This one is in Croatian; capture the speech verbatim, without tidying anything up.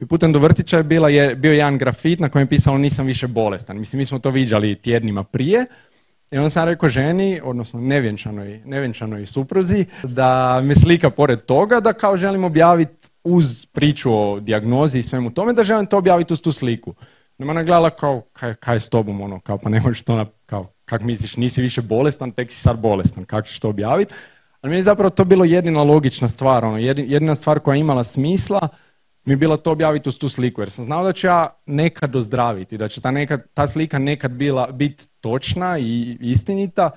I putem do vrtića je, bila, je bio jedan grafit na kojem je pisalo nisam više bolestan. Mislim, mi smo to viđali tjednima prije. I onda sam rekao ženi, odnosno nevjenčanoj, nevjenčanoj supruzi, da me slika pored toga, da kao želim objaviti uz priču o dijagnozi i svemu tome, da želim to objaviti uz tu sliku. Nema ona gledala kao, kaj, kaj je s tobom, ono, kao pa ne možeš to, na, kao, kak misliš, nisi više bolestan, tek si sad bolestan, kako ćeš to objaviti? Ali mi je zapravo to bilo jedina logična stvar, ono, jedina stvar koja je imala smisla, mi je bilo to objaviti uz tu sliku, jer sam znao da ću ja nekad ozdraviti, da će ta, nekad, ta slika nekad bila biti točna i istinita.